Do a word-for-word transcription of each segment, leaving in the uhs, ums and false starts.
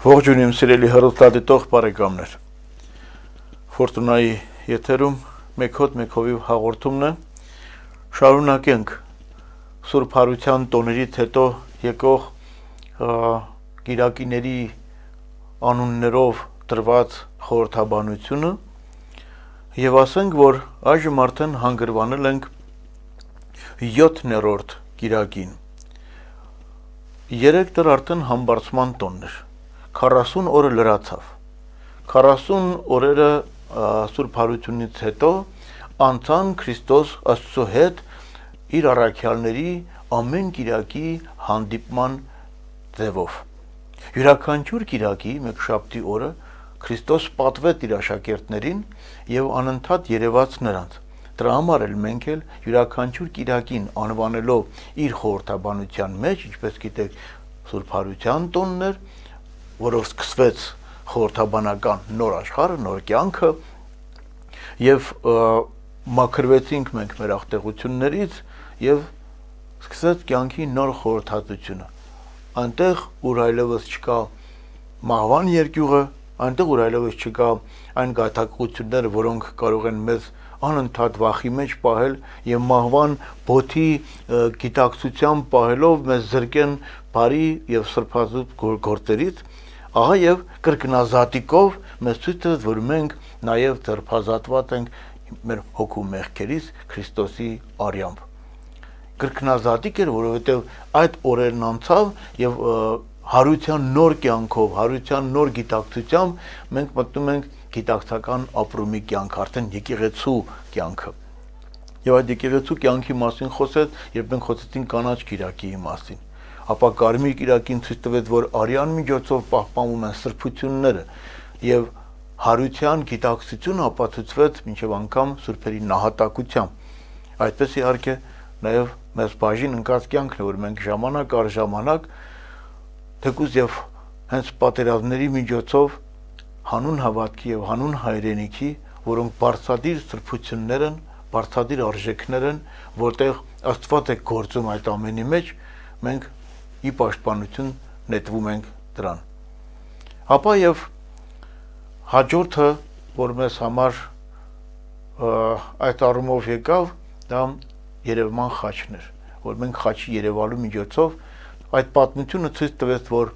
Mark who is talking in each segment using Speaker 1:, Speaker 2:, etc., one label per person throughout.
Speaker 1: Ողջույն իմ սիրելի հեռուստադիտող բարեկամներ։ Ֆորտունայի եթերում մեկ հոտ մեկ հովիվ հաղորդումն է։ Շարունակենք Սուրբ Հարության տոներից հետո եկող գիրակիների անուններով տրված խորհրդաբանությունը եւ ասենք, որ այժմ արդեն հանգրվանել ենք յոթներորդ գիրակին։ Երեք դեռ արդեն համբարձման տոնն էր։ քառասուն օրը լրացավ։ քառասուն օրերը Սուրբ Հարությունից հետո անցան Քրիստոս Աստծո հետ իր առաքյալների ամեն կիրակի հանդիպման ձևով։ Յուրաքանչյուր կիրակի մեկշաբթի օրը Քրիստոս պատվեց իր աշակերտներին եւ անընդհատ երևաց նրանց։ Դրա համար էլ մենք էլ յուրաքանչյուր կիրակին անվանելով իր խորհրդաբանության մեջ, ինչպես գիտեք, Սուրբ Հարության տոնն էր, որով սկսվեց խորհրդաբանական նոր աշխարհը, նոր կյանքը եւ մաքրվեցինք մենք մեր աղտեղություններից եւ սկսեց կյանքի նոր խորհրդածությունը։ Այնտեղ ուր այլևս չկա մահվան երկյուղը, այնտեղ ուր այլևս չկա այն գայթակղությունները, որոնք կարող են մեզ անընդհատ վախի մեջ պահել եւ մահվան բոթի գիտակցությամբ պահելով մեզ զրկեն բարի եւ սրբազուտ գործերից, ահա եւ կրկնազատիկով մեզ ցույց տվեց, որ մենք նաեւ ձերբազատված ենք մեր հոգու մեղքերից Քրիստոսի արյամբ։ Կրկնազատիկ էր, որովհետեւ այդ օրերն անցավ եւ հարության նոր կյանքով, հարության նոր գիտակցությամբ մենք մտնում ենք գիտակցական ապրումի կյանք, արդեն եկեղեցու կյանքը։ Եվ այդ եկեղեցու կյանքի մասին խոսեց, երբ մենք խոսեցինք կանաչ կիրակիի մասին։ Ապա կարմիր կիրակին ցույց տվեց, որ արյան միջոցով պահպանվում են սրբությունները եւ հարության գիտակցությունը ապացուցվեց մինչեւ անգամ սուրբերի նահատակությամբ։ Այդպես իհարկե նաեւ մեզ բաժին ընկած կյանքն է, որ մենք ժամանակ առ ժամանակ թեկուզ եւ հենց պատերազմների միջոցով հանուն հավատքի եւ հանուն հայրենիքի, որոնք բարձրադիր սրբություններ են, բարձրադիր արժեքներ են, որտեղ Աստված է գործում այդ ամենի մեջ, մենք ի պաշտպանություն նետվում ենք դրան։ Ապա եւ հաջորդը, որ մեզ համար այդ առումով եկավ, դա Երևման խաչն էր, որ մենք խաչի երևալու միջոցով այդ պատմությունը ցույց տվեց, որ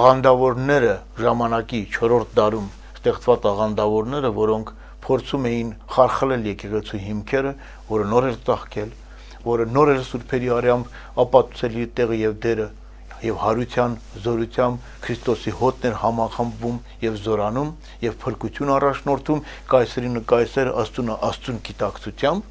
Speaker 1: աղանդավորները ժամանակի չորրորդ դարում ստեղծված աղանդավորները, որոնք փորձում էին խարխլել եկեղեցու հիմքերը, որը նոր էր ծաղկել, որը նոր էր սուրբերի արյամբ ապացուցել իր տեղը եւ դերը եւ հարության զորությամբ Քրիստոսի հոտն էր համախմբվում եւ զորանում եւ փրկություն առաջնորդում կայսերին կայսեր, աստունը աստուն գիտակցությամբ,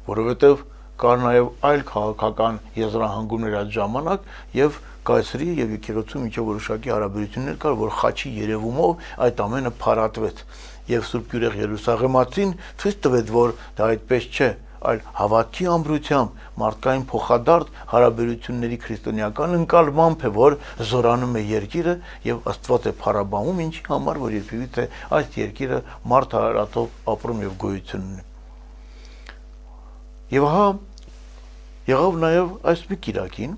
Speaker 1: որովհետեւ կար նաեւ այլ քաղաքական եզրահանգումներ այդ ժամանակ եւ կայսերի եւ եկեղեցու միջև որոշակի հարաբերություններ կար, որ խաչի երևումով այդ ամենը փարատվեց եւ Սուրբ Գյուրեղ Երուսաղեմացին ցույց տվեց, որ դա այդպես չէ, այլ հավատքի ամրությամբ մարդկային փոխադարձ հարաբերությունների քրիստոնեական ընկալմամբ է, որ զորանում է երկիրը եւ Աստված է փառաբանում, ինչի համար որ երբևիցե այս երկիրը մարդ հարատով ապրում եւ գոյություն ունի։ Եվ հա եղավ նաեւ այս մի կիրակին,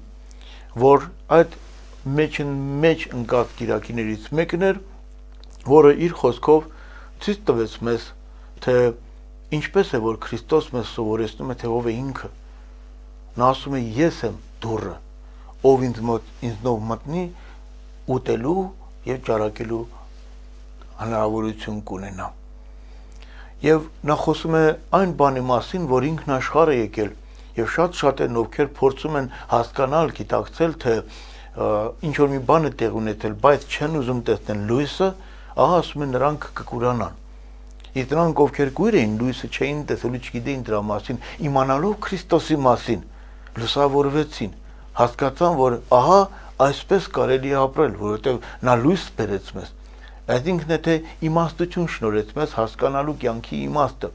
Speaker 1: որ այդ մեջն մեջ ընկած կիրակիներից մեկն էր, որը իր խոսքով ցույց տվեց մեզ, թե ինչպես է, որ Քրիստոս մեզ սովորեցնում է, թե ով է ինքը։ Նա ասում է, ես եմ դուռը, ով ինձ մոտ ինձնով մտնի, ուտելու եւ ճարակելու հնարավորություն կունենա։ Եւ նա խոսում է այն բանի մասին, որ ինքն աշխարհ է եկել եւ շատ-շատ են ովքեր փորձում են հասկանալ, գիտակցել, թե ինչ որ մի բան է տեղ ունեցել, բայց չեն ուզում տեսնել լույսը, ահա ասում են նրանք կկուրանան։ Իսկ նրանք ովքեր կույր էին, լույսը չէին տեսել ու չգիտեին դրա մասին, իմանալով Քրիստոսի մասին, լուսավորվեցին, հասկացան, որ ահա այսպես կարելի է ապրել, որովհետեւ նա լույս բերեց մեզ։ Այդ ինքն է թե իմաստություն շնորհեց մեզ հասկանալու կյանքի իմաստը։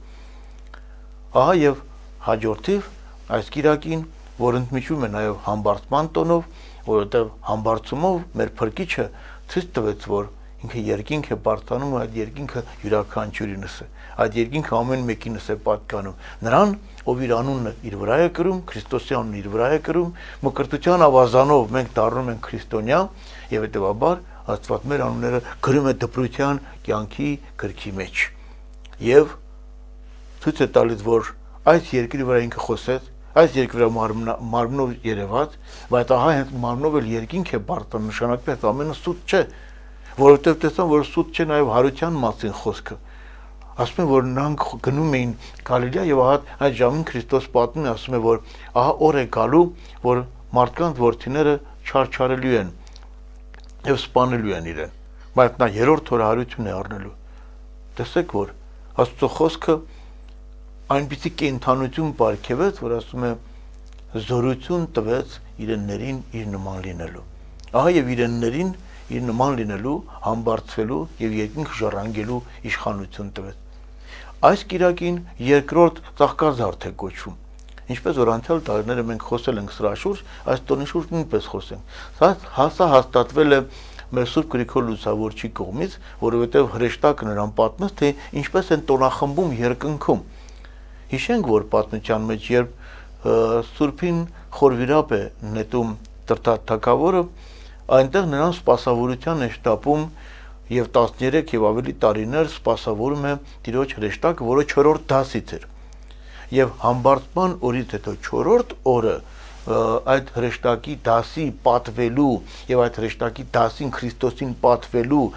Speaker 1: Ահա եւ հաջորդիվ այս կիրակին, որ ընդմիջում է նաեւ համբարձման տոնով, որովհետեւ համբարձումով մեր Փրկիչը ցույց տվեց, որ ինքը երկինք է բարձրանում, այդ երկինքը յուրաքանչյուրինս է, այդ երկինքը ամեն մեկինս է պատկանում։ Նրան, ով իր անունը իր վրա է կրում, Քրիստոսի անունը իր վրա է կրում, մկրտության ավազանով մենք դառնում ենք քրիստոնյա եւ հետեւաբար Աստված մեր անունները գրում է դպրության կյանքի գրքի մեջ։ Եվ ցույց է տալիս, որ այս երկրի վրա ինքը խոսեց, այս երկրի վրա մարմնով երևաց, բայց ահա հենց մարմնով էլ երկինք է բարձր, նշանակում է ամենը սուտ չէ, որովհետեւ տեսան, որ սուտ չէ նաեւ հարության մասին խոսքը։ Ասում են, որ նրանք գնում էին Գալիլեա եւ ահա այդ ժամին Քրիստոս պատմում է, ասում է, որ ահա օր է գալու, որ մարդկանց որդիները չարչարելու են եւ սպանելու են իրեն, բայց նա երրորդ օրը հարություն է առնելու։ Տեսեք, որ Աստծո խոսքը այնպիսի կենթանություն պարգևեց, որ ասում է զորություն տվեց իրեններին իր նման լինելու։ Ահա եւ իրեններին իր նման լինելու, համբարձվելու եւ երկինք ժառանգելու իշխանություն տվեց։ Այս կիրակին երկրորդ ծաղկազարդ է կոչվում։ Ինչպես որ անցյալ տարիները մենք խոսել ենք սրա շուրջ, այս տոնի շուրջ նույնպես խոսենք։ Սա հասա հաստատվել է մեր Սուրբ Գրիգոր Լուսավորչի կողմից, որովհետև հրեշտակը նրան պատմեց, թե ինչպես են տոնախմբում երկնքում։ Հիշենք, որ պատմության մեջ, երբ Սուրբին խորվիրապ է նետում Տրտատ թագավորը, այնտեղ նրան սպասավորության է շտապում եւ տասներեք եւ ավելի տարիներ սպասավորում է Տիրոջ հրեշտակը, որը չորրորդ դասից էր։ Եվ համբարձման օրից հետո չորրորդ օրը այդ հրեշտակի դասի պատվելու եւ այդ հրեշտակի դասին Քրիստոսին պատվելու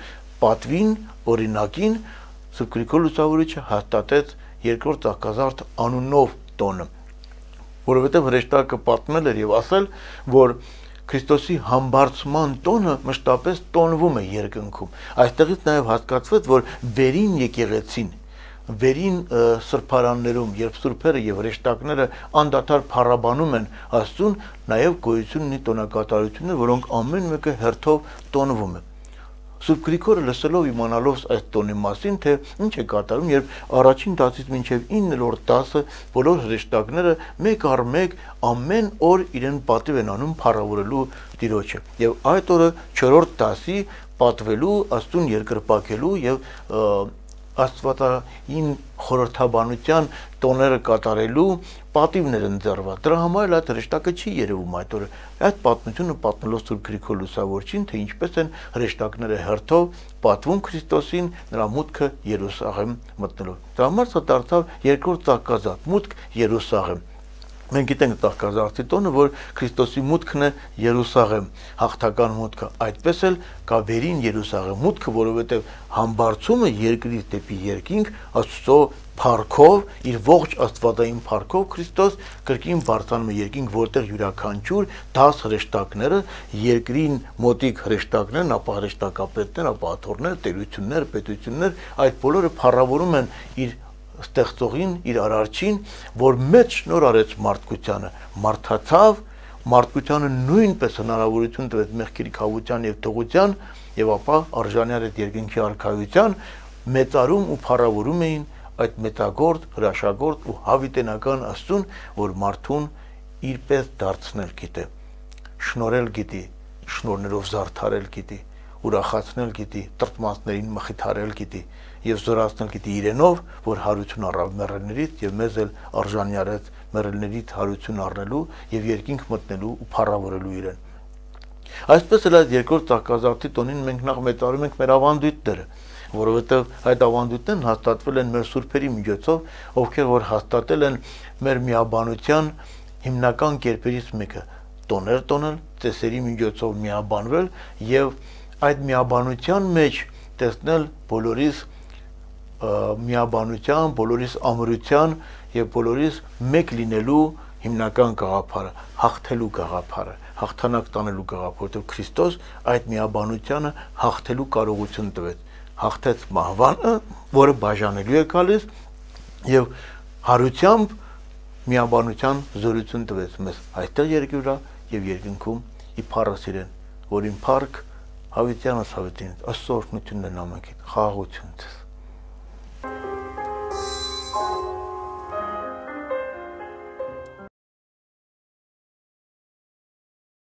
Speaker 1: պատվին օրինակին Սուրբ Գրիգոր Լուսավորիչը հաստատեց երկրորդ ծաղկազարդ անունով տոնը, որովհետեւ հրեշտակը պատմել էր եւ ասել, որ Քրիստոսի համբարձման տոնը մշտապես տոնվում է երկնքում։ Այստեղից նաև հասկացվեց, որ վերին եկեղեցին, վերին սրբարաններում, երբ սուրբերը եւ հրեշտակները անդադար փառաբանում են Աստծուն, նաև գոյություն ունի տոնակատարություններ, որոնք ամեն մեկը հերթով տոնվում է։ Սուրբ Գրիգորը լսելով իմանալով այս տոնի մասին, թե ինչ է կատարում, երբ առաջին դասից մինչև իններորդ դասը բոլոր հրեշտակները մեկ առ մեկ ամեն օր իրեն պատիվ են անում փառավորելու Տիրոջը։ Եվ այդ օրը չորրորդ դասի պատվելու, Աստծուն երկրպագելու եւ Աստվածային խորհրդաբանության տոները կատարելու պատիվներ են ձեռված։ Դրա համար էլ այդ հրեշտակը չի երևում այդ օրը։ Այդ պատմությունը պատմելով Սուրբ Գրիգոր Լուսավորչին, թե ինչպես են հրեշտակները հերթով պատվում Քրիստոսին, նրա մուտքը Երուսաղեմ մտնելով։ Դրա համար սա դարձավ երկրորդ ծաղկազարդ, մուտք Երուսաղեմ։ Մենք գիտենք ծաղկազարդի տոնը, որ Քրիստոսի մուտքն է Երուսաղեմ, հաղթական մուտքը, այդպես էլ կա վերին Երուսաղեմ մուտքը, որովհետև համբարձումը երկրից դեպի երկինք Աստծո փառքով, իր ողջ աստվածային փառքով Քրիստոս կրկին բարձրանում է երկինք, որտեղ յուրաքանչյուր դաս հրեշտակները, երկրին մոտիկ հրեշտակներն, ապա հրեշտակապետներ, ապա աթոռներ, տերություններ, պետություններ, այդ բոլորը փառավորում են իր ստեղծողին, իր արարչին, որ մեծ շնոր արեց մարդկությանը, մարդացավ, մարդկությանը նույնպես հնարավորություն տվեց մեղքերի քավության եւ թողության, եւ ապա արժանի արեց երկինքի արքայության, մեծարում ու փառավորում էին այդ մեծագործ, հրաշագործ ու հավիտենական Աստծուն, որ մարդուն իրպես դարձնել գիտե, շնորհել գիտի, շնորներով զարդարել գիտի, ուրախացնել գիտի, տրտմածներին մխիթարել գիտի եւ զորացնել գիտի իրենով, որ հարություն առավ մեռելներից եւ մեզ էլ արժանի արեց մեռելներից հարություն առնելու եւ երկինք մտնելու ու փառավորելու իրեն։ Այսպես էլ այդ երկրորդ ծաղկազարդի տոնին մենք նախ մեծարում ենք մեր ավանդույթները, որովհետեւ այդ ավանդույթներն հաստատվել են մեր սուրբերի միջոցով, ովքեր որ հաստատել են մեր միաբանության հիմնական կերպերից մեկը՝ տոներ տոնել, ծեսերի միջոցով միաբանվել եւ այդ միաբանության մեջ տեսնել բոլորիս միաբանության, բոլորիս ամրության եւ բոլորիս մեկ լինելու հիմնական գաղափարը, հաղթելու գաղափարը, հաղթանակ տանելու գաղափարը, որովհետեւ Քրիստոս այդ միաբանությանը հաղթելու կարողություն տվեց, հաղթեց մահվանը, որը բաժանելու է գալիս եւ հարությամբ միաբանության զորություն տվեց մեզ այդտեղ երկրի վրա եւ երկնքում ի փառս իրեն, որին փառք հավիտյանս հավիտին, Աստծո օրհնությունն է նամակին, խաղաղություն ձեզ։